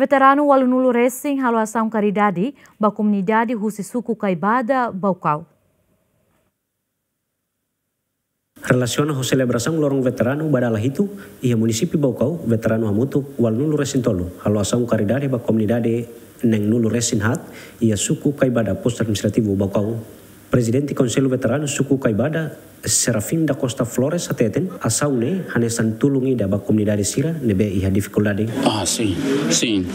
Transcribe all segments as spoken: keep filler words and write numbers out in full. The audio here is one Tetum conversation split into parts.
Veteranu ualunulu resin halo asaun karidade ba komunidade husi suku Kaibada, Baucau. Relasiona ho selebrasaun Loron Veteranu ba dala hitu, iha munisípiu Baucau, veteranu hamutuk ualunulu resin tolu halo asaun karidade ba komunidade neenulu resin haat, iha suku Kaibada, postu administrativu Baucau. Prezidente Konsellu Veteranu suku Kaibada, Serafim da Costa Flores, hateten asaun ne'e hanesan tulun ida ba komunidade sira ne'ebé iha difikuldade. Ah, sin, sin.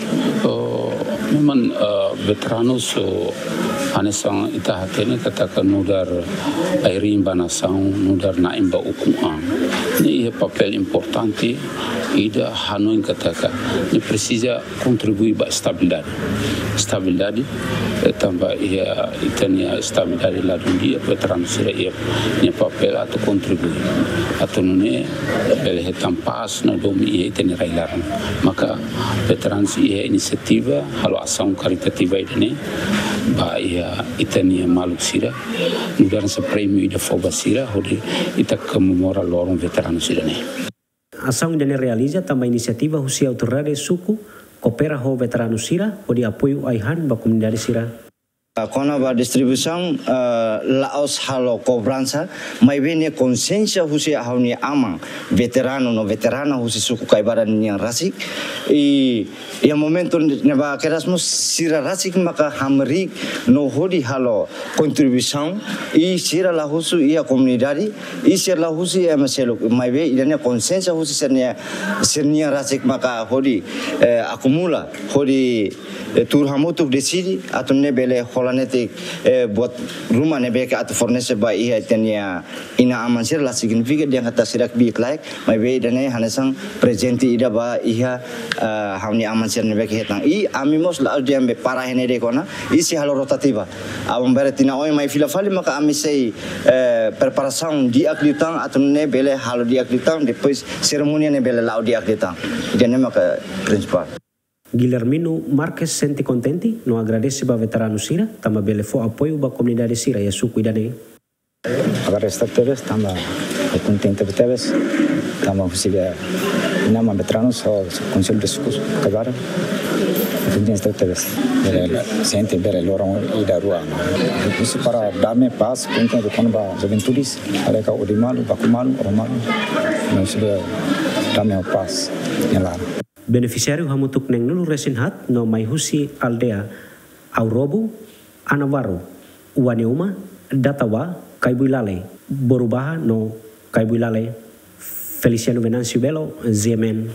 Oh, memang, eh, veteranu sira hanesan ita hatene katak nu'udar ai-riin ba nasaun, nu'udar na'in ba ukun-an. Ne'e iha papél importante ida, hanoin katak ne'e presiza kontribui ba estabilidade. Estabilidade, eh, tanba iha ita-nia estabilidade ladún di'ak, veteranu sira iha nia papél atu kontribui atu nune'e bele hetan pás no domin iha ita-nia rai-laran. Maka veteranu sira iha inisiativa halo asaun karitativa ida-ne'e ba iha ita-nia maluk sira, nu'udar hanesan prémiu ida fó ba sira hodi ita komemora Loron Veteranu sira-ne'e. Asaun ida-ne'e realiza tanba inisiativa husi autoridade suku, koopera ho veteranu sira hodi apoiu ai-han ba komunidade sira. Kona-ba distribuisaun, eh, la'ós halo kobransa, maibé ne'e konsiénsia husi ha'u-nia aman veteranu no veterana husi suku Kaibada nian rasik. I iha momentu ne'ebá kedas mós sira rasik maka hamriik no hodi halo kontribuisaun, i sira la husu iha komunidade, i sira la husu iha ema seluk, maibé ida-ne'e konsiénsia husi sira-nia, sira-nia rasik maka hodi, eh, akumula, hodi, eh, tuur hamutuk deside atu nune'e bele hola netik, eh, buat ruma ne'ebé ke atu fornese ba iha ita-nia inan-aman sira, la signifika dehan katak sira kbiit-laek, maibé ida-ne'e hanesan prezente ida ba iha, eh, ha'u-nia aman sira ne'ebé ke hetan. I ami mós la'ós dehan be para iha ne'e de'it ona, i sei halo rotativa. Aban-bainrua tinan oin mai fila fali maka ami sei, eh, preparasaun di'ak liután atu nune'e bele halo di'ak liután, depois serimónia ne'e bele la'o di'ak liután. Ida-ne'e maka prinsipál. Guilhermino Marques sente kontente no agradese ba veteranu sira tanba bele fó apoiu ba komunidade sira iha suku ida-ne'e. Agradese tebes tanba ha'u kontente tebes tanba husi inan-aman veteranus ho Konsellu de Suku Kaibada. Kontente tebes. Bele sente bele loron ida rua. Husi para dame, pás, kontente kona-ba juventudes, lalika odi malu, baku malu, oho malu. No husi dame ho pás iha laran. Benefisiáriu hamutuk neenulu resin haat no mai husi aldeia Aurobo, Anavaru, Uaneuma, Datawa, Kaibuilale, Borubaha no Kaibuilale. Feliciano Venâncio Belo, G M N,